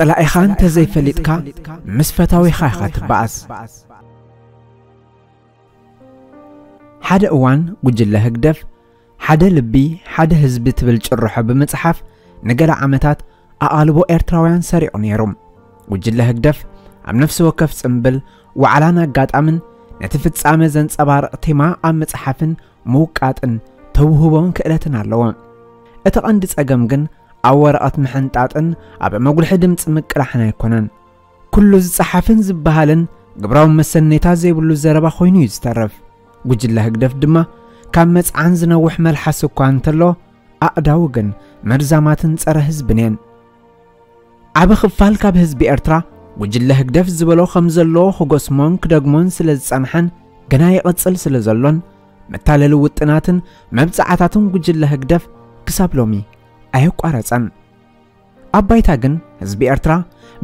ጸላኢኻ እንተዘይፈሊጥካ ምስ ፈታዊኻ ኢኻ ትበኣስ። ሓደ እዋን ጉጅለ ህግደፍ ሓደ ልቢ ሓደ ህዝቢ ትብል ጭርሖ ብምጽሓፍ ንገለ ዓመታት ኣቓልቦ ኤርትራውያን ሰሪቑ ነይሩ። ጉጅለ ህግደፍ ኣብ ነፍሲ ወከፍ ጽምብል፣ ዋዕላን ኣጋጣምን ነቲ ፍጻመ ዘንጸባርቕ ቴማ ኣብ ምጽሓፍን ምውቃጥን ተውህቦን ክእለትን ኣለዎ። እቲ ቀንዲ ጸገም ግን ኣብ ወረቐት ምሕንጣጥን ኣብ መጉልሒ ድምጺ ምቅላሕን ኣይኮነን። ኩሉ ዝጸሓፍን ዝበሃልን ግብራዊ መሰነይታ ዘይብሉ ዘረባ ኮይኑ እዩ ዝተርፍ። ጉጅለ ህግደፍ ድማ ካብ መጽዓን ዝነውሕ መልሓስ እኳ እንተሎ፣ ኣእዳዉ ግን መርዛማትን ጸረ ህዝብን እየን። ዓቢ ክፋል ካብ ህዝቢ ኤርትራ ጉጅለ ህግደፍ ዝበሎ ከም ዘለዎ ክጎስሞን ክደግሞን ስለ ዝጸንሐን ግና ይቕጽል ስለ ዘሎን፣ መታለሊ ውጥናትን መብጽዓታትን ጉጅለ ህግደፍ ክሳብ ሎሚ ኣየቋረጸን። ኣብ ባይታ ግን ህዝቢ ኤርትራ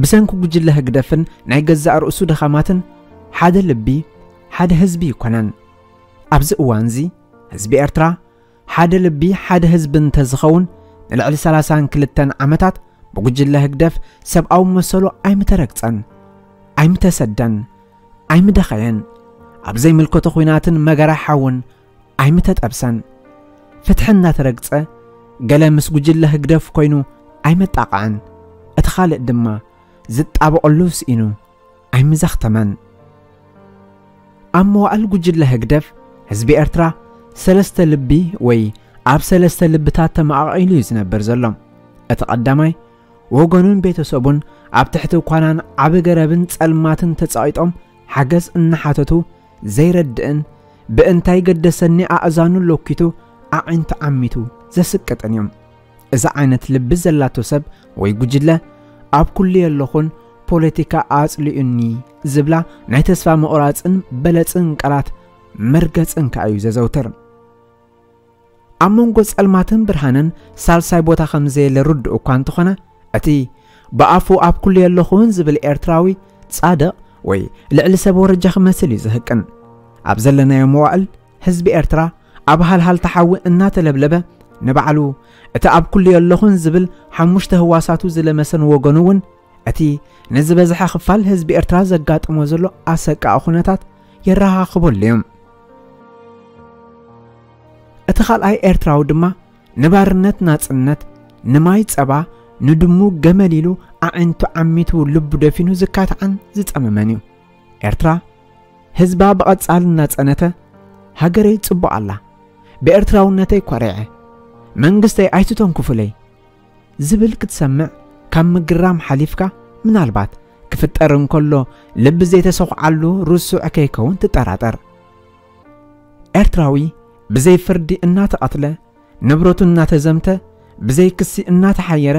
ብሰንኪ ጉጅለ ህግደፍን ናይ ገዛእ ርእሱ ድኻማትን ሓደ ልቢ፣ ሓደ ህዝቢ ኣይኮነን። ኣብዚ እዋንዚ ህዝቢ ኤርትራ ሓደ ልቢ፣ ሓደ ህዝቢ እንተዝኸውን፣ ንልዕሊ ሰላሳን ክልተን ዓመታት ብጉጅለ ህግደፍ ሰብኣዊ መሰሉ ኣይምተረግጸን፣ ኣይምተሰደን፣ ኣይምደኸየን። ኣብ ዘይምልከቶ ኲናትን መገራ ሓውን ኣይምተጠብሰን። ፍትሒ እናተረግጸ፣ ገለ ምስ ጉጅለ ህግደፍ ኮይኑ ኣይመጣቕዐን። እቲ ካልእ ድማ ዝጣበቐሉ ስኢኑ ኣይምዘኽተመን። ኣብ መዋእል ጉጅለ ህግደፍ፣ ህዝቢ ኤርትራ ሰለስተ ልቢ ወይ ኣብ ሰለስተ ልብታት ተመቓቒሉ እዩ ዝነብር ዘሎ። እቲ ቀዳማይ፣ ወገኑን ቤተሰቡን ኣብ ትሕቲ ኳናን ዓቢ ገረብን ጸልማትን ተጸቒጦም ሓገዝ እናሓተቱ ዘይረድእን ብእንታይ ገደሰኒ ኣእዛኑ ሎኪቱ ኣዒንቱ ዓሚቱ ዘስቅጥን እዮም። እዚ ዓይነት ልቢ ዘላቶ ሰብ ወይ ጉጅለ ኣብ ኩሉ የለኹን ፖለቲካ ኣጽሊኡኒ ዝብላ ናይ ተስፋ ምቑራጽን በለጽን ቃላት መርገጽን ከኣ እዩ ዘዘውትር። ኣብ መንጎ ጸልማትን ብርሃንን ሳልሳይ ቦታ ከም ዘየለ ርዱእ እኳ እንተኾነ፣ እቲ ብኣፉ ኣብ ኩሉ የለኹን ዝብል ኤርትራዊ ጻድቕ ወይ ልዕሊ ሰብ ወረጃ ክመስል እዩ ዝህቅን። ኣብ ዘለናዮ መዋእል ህዝቢ ኤርትራ ኣብ ሃልሃልታ ሓዊ እናተለብለበ፣ ንባዕሉ እቲ ኣብ ኩሉ የለኹን ዝብል ሓሙሽተ ህዋሳቱ ዝለመሰን ወገኑ እውን እቲ ንዝበዝሐ ክፋል ህዝቢ ኤርትራ ዘጋጥሞ ዘሎ ኣሰቃቒ ኩነታት የረኻኽበሉ እዩ። እቲ ካልኣይ ኤርትራዊ ድማ ንባርነት ናጽነት፣ ንማይ ጸባ፣ ንድሙ ገመል ኢሉ ኣዒንቱ ዓሚቱ ልቡ ደፊኑ ዝካትዓን ዝጸመመን እዩ። ኤርትራ ህዝባ ብቐጻሊ እናጸነተ፣ ሃገረይ ጽቡቕ ኣላ፣ ብኤርትራውነተይ ኮሪዐ፣ መንግስተይ ኣይትተንኩፉለይ ዝብል ክትሰምዕ ካብ ምግራም ሓሊፍካ፣ ምናልባት ክፍጠር እንከሎ ልቢ ዘይተሰኹዓሉ ርሱዕ ከይከውን ትጠራጠር። ኤርትራዊ ብዘይ ፍርዲ እናተቐትለ፣ ንብረቱ እናተዘምተ፣ ብዘይ ክሲ እናተሓየረ፣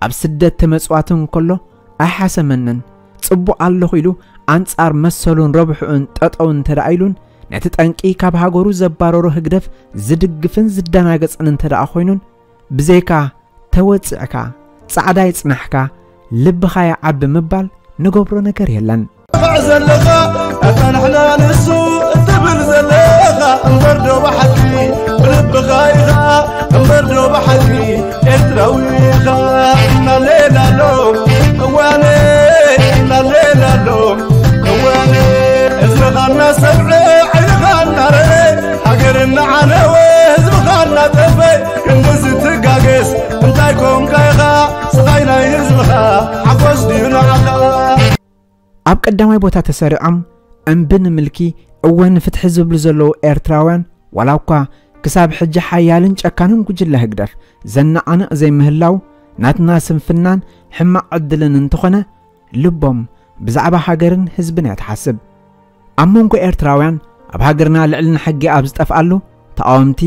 ኣብ ስደት ተመጽዋቲ እንከሎ ኣይሓሰመንን፣ ጽቡቕ ኣለኹ ኢሉ ኣንጻር መሰሉን ረብሕኡን ጠጠው እንተ ደኣ ኢሉን፣ ነቲ ጠንቂ ካብ ሃገሩ ዘባረሮ ህግደፍ ዝድግፍን ዝደናገጽን እንተ ደኣ ኮይኑን፣ ብዘይካ ተወጺዕካ፣ ጻዕዳ ይጽናሕካ፣ ልብኻ ይዓቢ ምባል ንገብሮ ነገር የለን። ትብዕ ዘለኻ ኣታ ንሕና ንሱ እትብል ዘለኻ እምበር ዶ ብሓቂ ብልብኻ ኢኻ እምበር ዶ ብሓቂ ኤርትራዊ ኢኻ። እናሌላሎ እዋነ እናሌላሎ እዋነ ህዝብኻ እናሰምዐ ዓይንኻ እናረአ ሃገር እናዓነወ ህዝብኻ እናጠፈ ክንድዚ ትጋገስ እንታይ ኮንካ ኢኻ ስቓይ ናይ ህዝብኻ ሓጎስ ድዩ ንዓኻ። ኣብ ቀዳማይ ቦታ ተሰሪዖም እምቢ ንምልኪ እወ ንፍትሒ ዝብሉ ዘለዉ ኤርትራውያን ዋላ እኳ ክሳብ ሕጂ ሓያልን ጨካንን ጉጅለ ህግደፍ ዘነቓንቕ ዘይምህላው ናትና ስንፍናን ሕማቕ ዕድልን እንተኾነ ልቦም ብዛዕባ ሃገርን ህዝብን እያ ትሓስብ። ኣብ መንጎ ኤርትራውያን ኣብ ሃገርና ልዕልና ሕጊ ኣብ ዝጠፍኣሉ ተቓወምቲ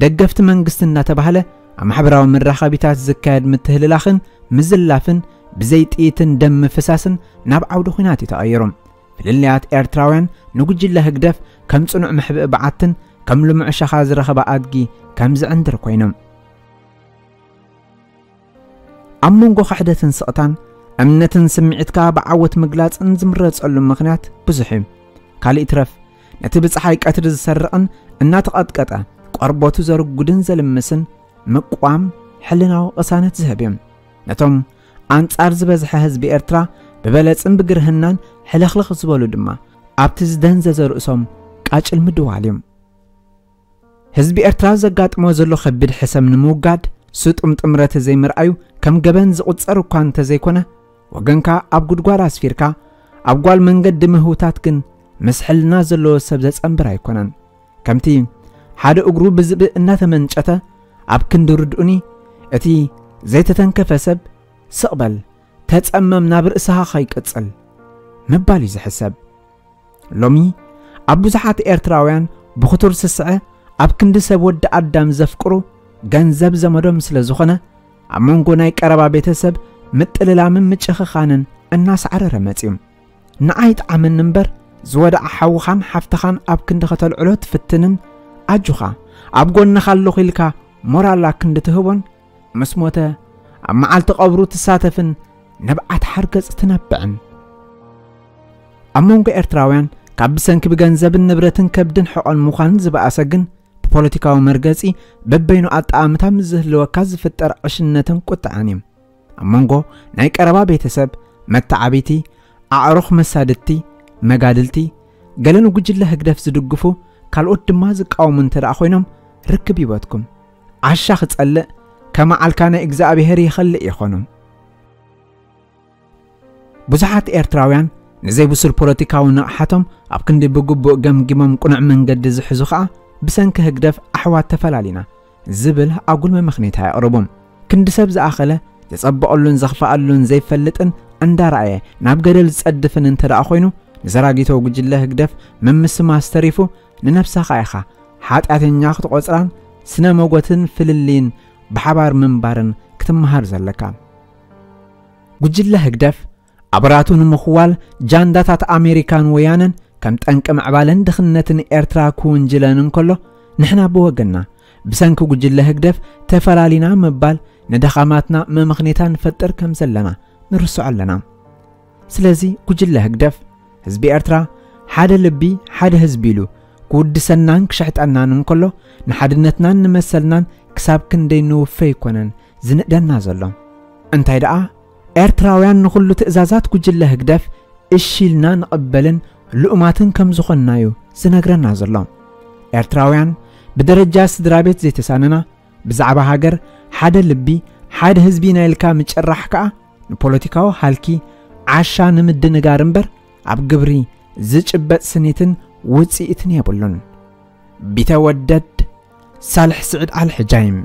ደገፍቲ መንግስቲ እናተባህለ ኣብ ማሕበራዊ መራኸቢታት ዝካየድ ምትህልላኽን ምዝላፍን ብዘይ ጥይትን ደም ምፍሳስን ናብ ዓውዲ ኹናት እዩ ተቐይሩ። ፍልልያት ኤርትራውያን ንጉጅለ ህግደፍ ከም ጽኑዕ መሕብኢ በዓትን ከም ልሙዕ ሸኻ ዝረኸበ ኣድጊ ከም ዝዕንድር ኮይኖም። ኣብ መንጎ ክሕደትን ስቕታን እምነትን ስምዒትካ ብዓወት ምግላጽን ዝምረጸሉ ምኽንያት ብዙሕ እዩ። ካልእ ይትረፍ ነቲ ብጸሓይ ቀትሪ ዝሰርቕን እናተቐጥቀጠ ቆርበቱ ዘርጉድን ዘልምስን ምቅዋም ሕልናዊ ቅሳነት ዝህብ እዩ። ነቶም ኣንጻር ዝበዝሐ ህዝቢ ኤርትራ ብበለጽን ብግርህናን ሕልኽልኽ ዝበሉ ድማ ኣብቲ ዝደንዘዘ ርእሶም ቃጭል ምድዋል እዮም። ህዝቢ ኤርትራ ዘጋጥሞ ዘሎ ከቢድ ሕሰም ንምውጋድ ስጡም ጥምረት ዘይምርኣዩ ከም ገበን ዝቑጸር እኳ እንተዘይኮነ፣ ወገንካ ኣብ ጉድጓድ ኣስፊርካ ኣብ ጓል መንገዲ ምህውታት ግን ምስ ሕልና ዘለዎ ሰብ ዘጸንብር ኣይኮነን። ከምቲ ሓደ እግሩ ብዝብኢ እናተመንጨተ ኣብ ክንዲ ርድኡኒ፣ እቲ ዘይተተንከፈ ሰብ ስቕ በል፣ ተጸመም፣ ናብ ርእስኻ ከይቅጽል ምባል እዩ ዝሕሰብ። ሎሚ ኣብ ብዙሓት ኤርትራውያን ብኽቱር ስስዐ ኣብ ክንዲ ሰብ ወዲ ኣዳም ዘፍቅሩ ገንዘብ ዘመዶም ስለ ዝኾነ፣ ኣብ መንጎ ናይ ቀረባ ቤተሰብ ምጥልላምን ምጭኽኻንን እናሳዕረረ መጺኡ። ንዓይ ጣዕመኒ እምበር፣ ዝወድዓ ሓውኻን ሓፍትኻን ኣብ ክንዲ ከተልዕሎ ትፍትንን፣ ኣጆኻ ኣብ ጎንኻ ኣለኹ ኢልካ ሞራል ኣብ ክንዲ ትህቦን፣ ምስ ሞተ ኣብ መዓልቲ ቀብሩ ትሳተፍን ንብዓት ሓርገጽ ትነብዕን። ኣብ መንጎ ኤርትራውያን ካብ ብሰንኪ ብገንዘብን ንብረትን ከብድን ሕቖን ምዃን ዝበኣሰ ግን፣ ብፖለቲካዊ መርገጺ በበይኑ ኣጠኣምታ ምስ ዝህልወካ ዝፍጠር ዕሽነትን ቁጥዐን እዩ። ኣብ መንጎ ናይ ቀረባ ቤተሰብ፣ መተዓቢቲ፣ ኣዕሩኽ፣ መሳድድቲ፣ መጋድልቲ፣ ገለ ንጉጅለ ህግደፍ ዝድግፉ፣ ካልኦት ድማ ዝቃወሙ እንተ ደኣ ኮይኖም፣ ርክብ ይበትኩም። ዓሻ ክጸልእ ከመዓልካ ናይ እግዚኣብሔር ይኸልእ ይኾኑ። ብዙሓት ኤርትራውያን ንዘይብሱል ፖለቲካዊ ንቕሓቶም ኣብ ክንዲ ብግቡእ ገምጊሞም ቅኑዕ መንገዲ ዝሕዙ ኸኣ፣ ብሰንኪ ህግደፍ ኣሕዋት ተፈላሊና ዝብል ኣጉል መመኽኔታ የቕርቡ። ክንዲ ሰብ ዝኣኸለ ዘጸበቐሉን ዘኽፍኣሉን ዘይፈልጥን እንዳረኣየ ናብ ገደል ዝጸድፍን እንተ ደኣ ኮይኑ፣ ንዘራጊቶ ጉጅለ ህግደፍ ምምስማስ ተሪፉ፣ ንነብስኻ ኢኻ ሓጢኣተኛ ክትቖጽራን ስነ መጎትን ፍልልይን ብሓባር ምንባርን ክትመሃር ዘለካ። ጉጅለ ህግደፍ ኣበራቱ ንምኽዋል ጃንዳታት ኣሜሪካን ወያነን ከም ጠንቂ ምዕባለን ድኽነትን ኤርትራ ክውንጅለን እንከሎ፣ ንሕና ብወገንና ብሰንኪ ጉጅለ ህግደፍ ተፈላሊና ምባል ንደኻማትና መመኽኔታ ንፈጥር ከም ዘለና ንርስዖ ኣለና። ስለዚ ጉጅለ ህግደፍ ህዝቢ ኤርትራ ሓደ ልቢ ሓደ ህዝቢ ኢሉ ክውድሰናን ክሸሕጠናን እንከሎ፣ ንሓድነትናን ንመሰልናን ክሳብ ክንደይ ንውፈ ኣይኮነን ዝንእደና ዘሎ። እንታይ ደኣ ኤርትራውያን ንኹሉ ትእዛዛት ጉጅለ ህግደፍ እሺ ኢልና ንቕበልን ልኡማትን ከም ዝኾንና እዩ ዝነግረና ዘሎ። ኤርትራውያን ብደረጃ ስድራ ቤት ዘይተሳነና፣ ብዛዕባ ሃገር ሓደ ልቢ ሓደ ህዝቢ ኢና ኢልካ ምጭራሕ ከኣ ንፖለቲካዊ ሃልኪ ዓሻ ንምድንጋር እምበር ኣብ ግብሪ ዝጭበጥ ስኒትን ውጽኢትን የብሉን። ቢተወደድ ሳልሕ ስዕድ ኣልሕጃይም።